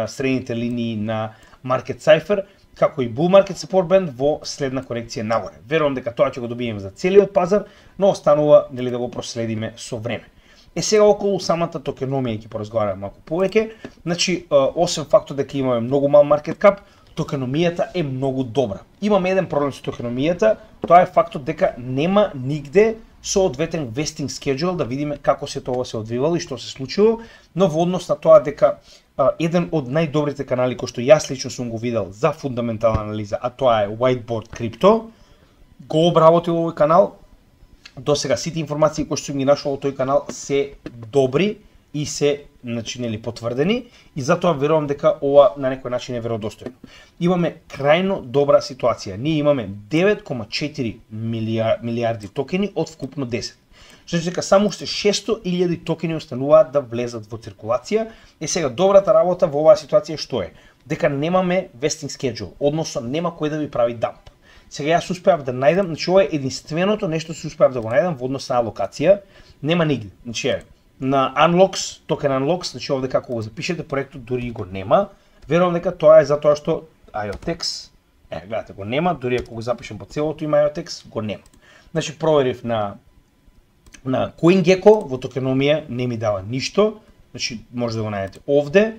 средните линии на Market Cipher, како и Bull Market Support Band во следна корекција нагоре. Верувам дека тоа ќе го добиеме за целиот пазар, но останува да го проследиме со време. Сега околу самата токеномија ќе поразговараме малку повеќе. Значи, освен фактот дека имаме многу мал маркет кап, токеномијата е многу добра. Имаме еден проблем со токеномијата, тоа е фактот дека нема нигде соодветен vesting schedule да видиме како се тоа се одвивало и што се случило, но во однос на тоа дека еден од најдобрите канали кои што јас лично сум го видел за фундаментална анализа, а тоа е Whiteboard Crypto, го обработил овој канал. До сега сите информации кои што сум ги нашол во тој канал се добри и се потврдени и затоа верувам дека ова на некој начин е веродостојно. Имаме крајно добра ситуација. Ние имаме 9,4 милиарди токени од вкупно 10. Значи дека само уште 600.000 токени остануваат да влезат во циркулација. Сега добрата работа во оваа ситуација што е? Дека немаме vesting schedule, односно нема кој да ви прави дамп. Сега јас успеав да најдам, значи ова е единственото нешто што успеав да го најдам во однос на алокација, нема нигде. Значи на Unlocks, токен Unlocks, значи овде како го запишете проектот дури го нема. Верувам дека тоа е затоа што IOTEX, гледате го нема, дури ако го запишем по целото има IOTEX, го нема. Значи проверив на CoinGecko во токеномија не ми дава ништо, значи може да го најдете овде.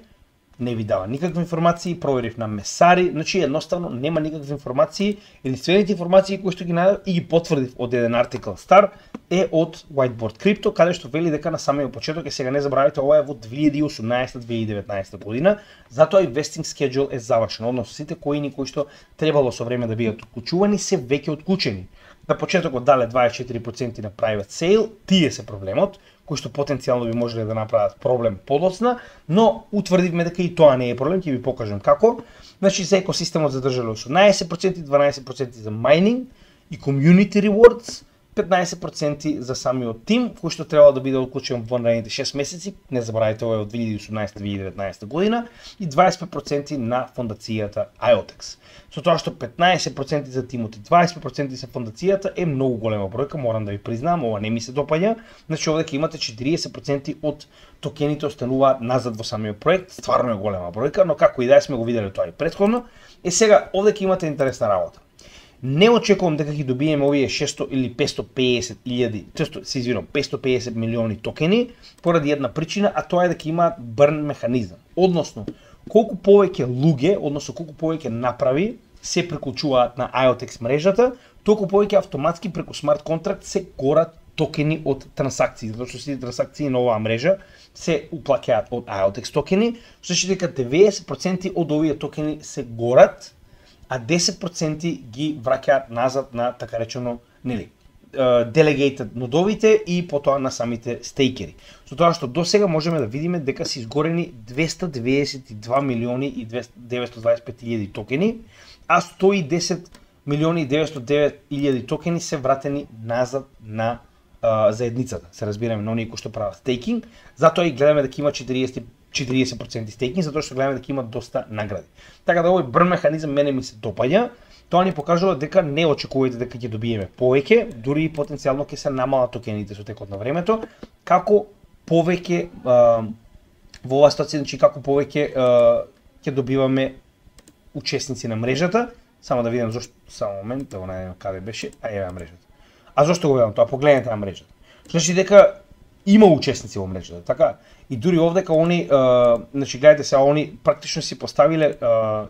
Не ви дава никакви информации, проверив на Месари, значи едноставно нема никакви информации. Единствените информации кои што ги најдов и ги потврдив од еден артикл стар е од Whiteboard Crypto, каде што вели дека на самиот почеток, сега не забравяйте, ова е во 2018-2019 година, затоа и vesting schedule е завршен, односно сите коини кои што требало со време да бидат отклучувани се веќе отклучени. На почетокот дале 24% на private sale, тие се проблемот, кои што потенцијално би можеле да направат проблем подоцна, но утврдивме дека и тоа не е проблем, ќе ви покажам како. Значи за екосистемот задржале 18%, 12% за mining и community rewards, 15% за самиот тим, кој што треба да биде отклучен во наредните 6 месеци, не забравяйте ова е од 2018-2019 година, и 25% на фондацијата IOTEX. Со тоа што 15% за тимот и 20% за фондацијата е многу голема бројка, морам да ви признам, ова не ми се допаѓа. Значи овде ќе имате 40% од токените остануваат назад во самиот проект, стварно е голема бројка, но како и да сме го виделе тоа и претходно. Сега овде ќе имате интересна работа. Не очекувам дека ќе добиеме овие 600 или 550 милиони токени поради една причина, а тоа е дека имаат burn механизам. Односно, колку повеќе луѓе, односно колку повеќе направи се приклучуваат на IOTEX мрежата, толку повеќе автоматски преку смарт контракт се горат токени од трансакции, затоа што сите трансакции на оваа мрежа се уплаќаат од IOTEX токени, што значи дека 90% од овие токени се горат, а 10% ги враќаат назад на така речено, delegated нодовите и потоа на самите стейкери. Со тоа што до сега можеме да видиме дека се изгорени 292 милиони и 925 илјади токени, а 110 милиони и 909 илјади токени се вратени назад на заедницата. Се разбираме на оние кои што прават стейкинг, затоа и гледаме дека има 40% стейкинг, затоа што гледаме дека има доста награди. Така да овој burn механизам мене ми се допаѓа Тоа ни покажува дека не очекувате дека ќе добиеме повеќе, дури и потенцијално ќе се намалат токените со текот на времето, како повеќе во оваа ситуација, значи како повеќе ќе добиваме учесници на мрежата. Само да видам зошто, само момент, да го најдем каде беше, еве мрежата. А зошто го гледам тоа? Погледнете на мрежата. Значи дека има учесници во мрежата, така? И дури овдека они, значи гледате се, они практично си поставиле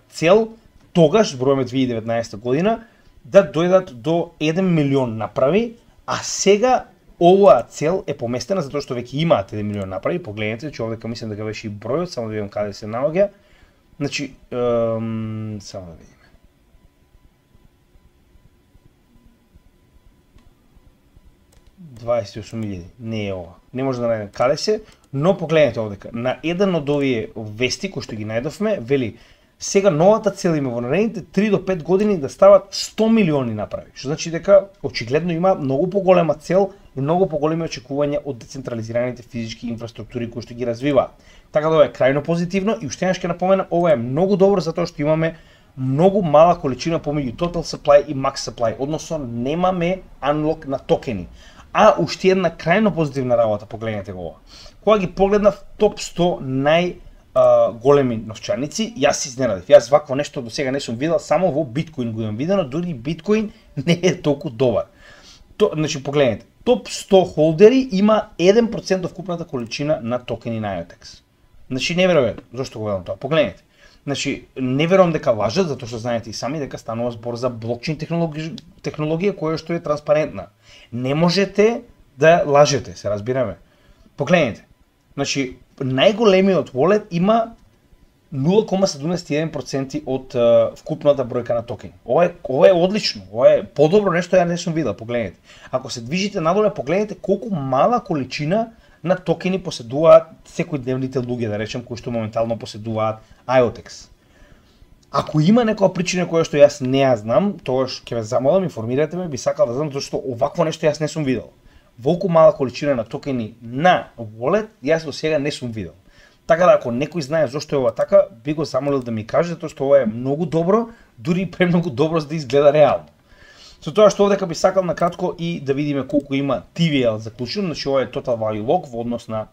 цел тогаш, зборуваме 2019 година, да дојдат до 1 милион направи, а сега оваа цел е поместена затоа што веќе имаат 1 милион направи. Погледнете, че овдека мислам дека беше и бројот, само да видам каде се наоѓа. Значи, само да видиме. $28,000, не е ова. Не може да најдем каде се, но погледнете овдека. На еден од овие вести кои што ги најдовме, вели сега новата цел има во наредните 3 до 5 години да стават 100 милиони направи. Што значи дека очигледно има многу поголема цел и многу поголеми очекувања од децентрализираните физички инфраструктури кои што ги развиваат. Така да ова е крајно позитивно и уште еднаш ќе напоменам, ова е многу добро затоа што имаме многу мала количина помеѓу total supply и max supply, односно немаме unlock на токени. А уште една крајно позитивна работа, погледнете го ова. Кога ги погледнав топ 100 големи новчаници, јас се изненадив. Јас вакво нешто до сега не сум видел, само во биткоин го имам видено, дури биткоин не е толку добар. Значи погледнете, топ 100 холдери има 1% од вкупната количина на токени на IOTEX. Значи неверојатно. Зошто го гледам тоа? Погледнете. Значи не верувам дека лажат, затоа што знаете и сами дека станува збор за блокчейн технологија која што е транспарентна. Не можете да лажете, се разбираме. Погледнете. Значи најголемиот wallet има 0,71% од вкупната бројка на токени. Ова е одлично, ова е подобро нешто ја не сум видел, погледнете. Ако се движите надоле, погледнете колку мала количина на токени поседуваат секојдневните луѓе, да речем, кои што моментално поседуваат IOTEX. Ако има некоја причина која што јас не ја знам, тогаш ќе ве замолам, информирате ме, би сакал да знам, зашто овакво нешто јас не сум видел. Волку мала количина на токени на wallet, јас до сега не сум видел. Така да ако некој знае зошто е ова така, би го замолил да ми каже, затоа што ова е многу добро, дури и премногу добро за да изгледа реално. Со тоа што овдека би сакал на кратко и да видиме колку има TVL заклучено, значи ова е Total Value Lock во однос на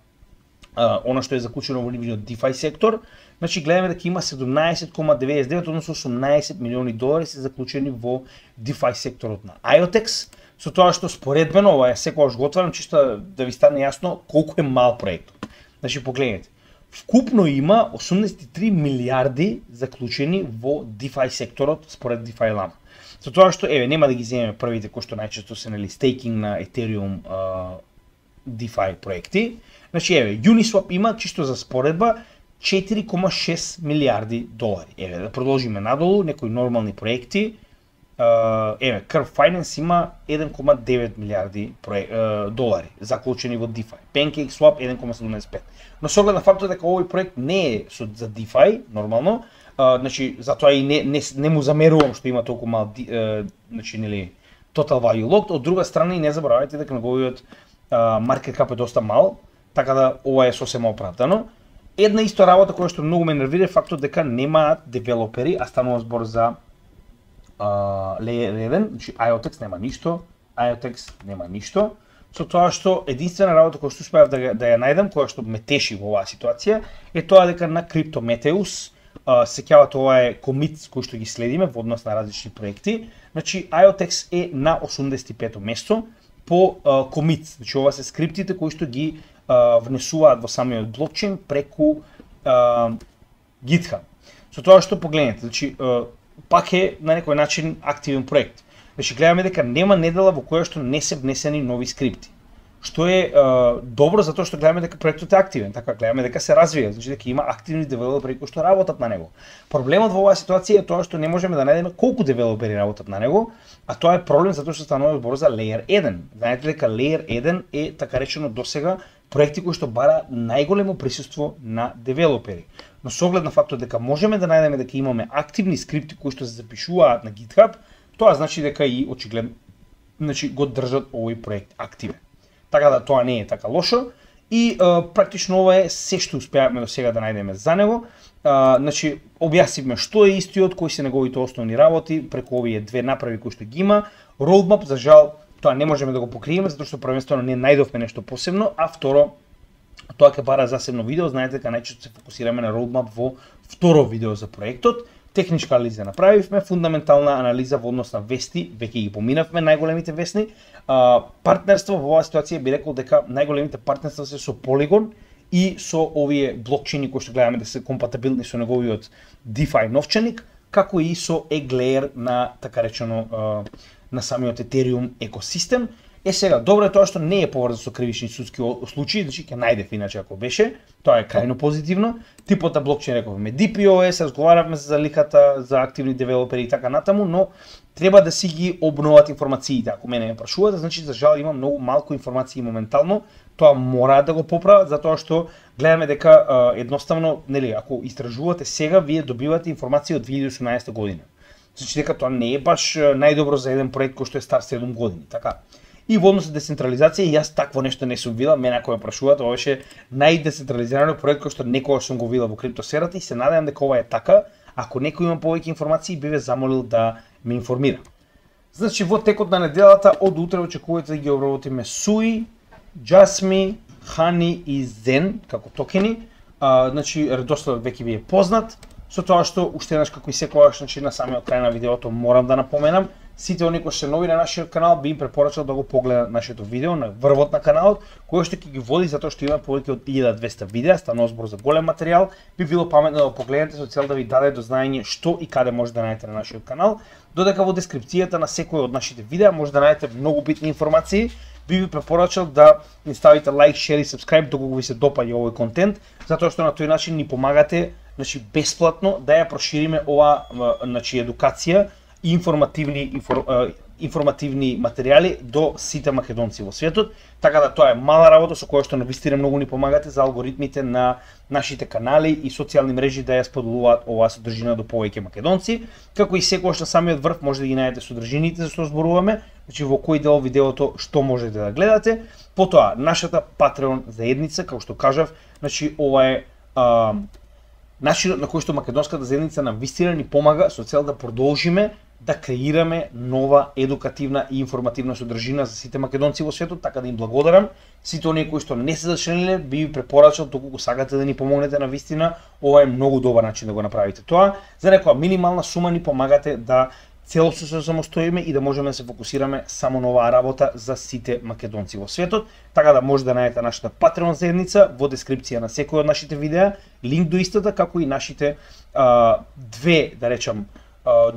она што е заклучено во нивниот DeFi сектор. Значи гледаме дека има 17,99, односно $18 милиони се заклучени во DeFi секторот на IOTEX. Со тоа што споредбено, ова е секогаш го отварам чисто да ви стане јасно колку е мал проектот. Значи погледнете, вкупно има 83 милиарди заклучени во DeFi секторот според DeFi Lama. Со тоа што нема да ги земеме првите кои што најчесто се стейкинг на Ethereum DeFi проекти. Значи Uniswap има чисто за споредба $4,6 милиарди. Да продолжиме надолу, некои нормални проекти. Curve Finance има 1,9 милиарди долари заклучени во DeFi. PancakeSwap 1,75. Но со оглед на фактот дека овој проект не е за DeFi нормално, значи затоа и не му замерувам што има толку мал значи нели Total Value Locked. Од друга страна и не заборавајте дека неговиот market cap е доста мал, така да ова е сосема оправдано. Една исто работа која што многу ме нервира е фактот дека немаат девелопери, а станува збор за Layer 1, значи IOTEX нема ништо, IOTEX нема ништо. Со тоа што единствена работа која што успеав да ја најдам, која што ме теши во оваа ситуација, е тоа дека на CryptoMeteus, сеќавате ова е комит кој што ги следиме во однос на различни проекти. Значи IOTEX е на 85-то место по комит. Значи ова се скриптите кои што ги внесуваат во самиот блокчейн преку GitHub. Со тоа што погледнете, значи пак е на некој начин активен проект. Значи гледаме дека нема недела во која што не се внесени нови скрипти. Што е добро затоа што гледаме дека проектот е активен, така гледаме дека се развива, значи дека има активни девелопери кои што работат на него. Проблемот во оваа ситуација е тоа што не можеме да најдеме колку девелопери работат на него, а тоа е проблем затоа што станува збор за Layer 1. Знаете дека Layer 1 е така речено досега проекти кои што бара најголемо присуство на девелопери. Но со оглед на фактот дека можеме да најдеме дека имаме активни скрипти кои што се запишуваат на GitHub, тоа значи дека и очигледно значи го држат овој проект активен. Така да тоа не е така лошо И практично ова е се што успеавме до сега да најдеме за него. Значи, објаснивме што е истиот, кои се неговите основни работи, преку овие две направи кои што ги има. Roadmap, за жал, тоа не можеме да го покриеме, затоа што првенствено не најдовме нешто посебно, а второ, тоа ќе бара засебно видео. Знаете дека најчесто се фокусираме на roadmap во второ видео за проектот. Техничка анализа направивме, фундаментална анализа во однос на вести, веќе ги поминавме најголемите вестни. Партнерство во оваа ситуација би рекол дека најголемите партнерства се со Polygon и со овие блокчейни кои што гледаме да се компатибилни со неговиот DeFi новчаник, како и со Eglayer на така речено на самиот Ethereum екосистем. Сега, добро е тоа што не е поврзано со кривични судски случаи, значи ќе најдев иначе ако беше, тоа е крајно позитивно. Типот на блокчейн рековме DPoS, разговаравме за ликата, за активни девелопери и така натаму, но треба да си ги обноват информациите. Ако мене ме прашувате, значи за жал има многу малку информации моментално, тоа мора да го поправат затоа што гледаме дека едноставно, нели, ако истражувате сега, вие добивате информација од 2018 година. Значи дека тоа не е баш најдобро за еден проект кој што е стар 7 години, така. И во однос на децентрализација, јас такво нешто не сум видел, мене ако ме прашуваат, ова беше најдецентрализирано проект кој што некогаш сум го видел во криптосферата и се надевам дека ова е така. Ако некој има повеќе информации, би ве замолил да ме информира. Значи во текот на неделата од утре очекувате да ги обработиме Sui, Jasmy, Honey и Zen како токени. Значи редоследот веќе ви е познат. Со тоа што уште еднаш како и секогаш, значи на самиот крај на видеото морам да напоменам, сите оние кои се нови на нашиот канал би им препорачал да го погледнат нашето видео на врвот на каналот, кој што ќе ги води затоа што има повеќе од 1200 видеа, станува збор за голем материјал, би било паметно да го погледнете со цел да ви даде до знаење што и каде може да најдете на нашиот канал, додека во дескрипцијата на секој од нашите видеа може да најдете многу битни информации. Би ви препорачал да ни ставите лайк, шер и сабскрајб доколку ви се допаѓа овој контент, затоа што на тој начин ни помагате, значи бесплатно да ја прошириме ова, значи едукација и информативни материјали до сите македонци во светот, така да тоа е мала работа со која што навистина многу ни помагате за алгоритмите на нашите канали и социјални мрежи да ја споделуваат оваа содржина до повеќе македонци, како и секогаш на самиот врв може да ги најдете содржините за што зборуваме, значи во кој дел видеото што можете да гледате. Потоа нашата Patreon заедница, како што кажав, значи ова е начинот на кој што македонската заедница навистина ни помага со цел да продолжиме да креираме нова едукативна и информативна содржина за сите македонци во светот, така да им благодарам. Сите оние кои што не се зачлениле, би ви препорачал доколку сакате да ни помогнете на вистина, ова е многу добар начин да го направите тоа. За некоја минимална сума ни помагате да целосно се самостоиме и да можеме да се фокусираме само на оваа работа за сите македонци во светот, така да може да најдете нашата Patreon заедница во дескрипција на секој од нашите видеа, линк до истата, како и нашите две, да речам,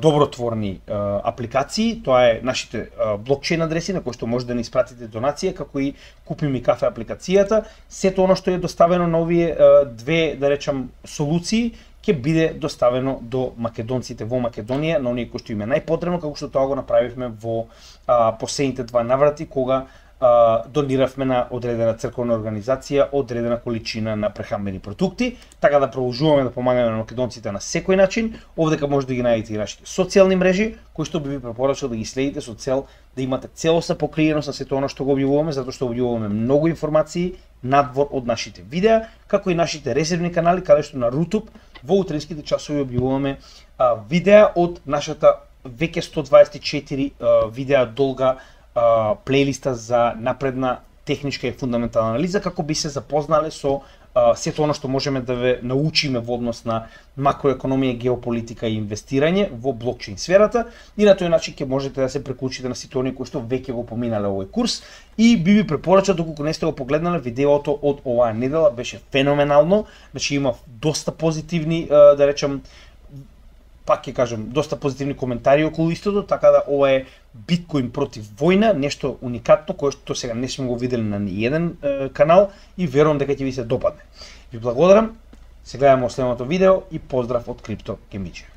добротворни апликации, тоа е нашите блокчейн адреси на кои што може да ни испратите донација, како и Купи ми кафе апликацијата. Сето оно што е доставено на овие две, да речам, солуции, ќе биде доставено до македонците во Македонија, на оние кои што им е најпотребно, како што тоа го направивме во последните два наврати, кога дониравме на одредена црковна организација одредена количина на прехранбени продукти, така да продолжуваме да помагаме на македонците на секој начин. Овдека може да ги најдете и нашите социјални мрежи, кои што би ви препорачал да ги следите со цел да имате целосна покриеност на сето она што го објавуваме, затоа што објавуваме многу информации надвор од нашите видеа, како и нашите резервни канали, каде што на YouTube во утринските часови објавуваме видеа од нашата веќе 124 видеа долга плейлиста за напредна техничка и фундаментална анализа, како би се запознале со сето оно што можеме да ве научиме во однос на макроекономија, геополитика и инвестирање во блокчейн сферата, и на тој начин ќе можете да се преклучите на сите оние кои што веќе го поминале овој курс. И би ви препорачал, доколку не сте го погледнале, видеото од оваа недела беше феноменално, значи има доста позитивни, да речам, пак ќе кажам, доста позитивни коментари околу истото, така да ова е биткоин против војна, нешто уникатно кое што сега не сме го видели на ниеден канал и верувам дека ќе ви се допадне. Ви благодарам, се гледаме во следното видео и поздрав од Крипто Кемиџе.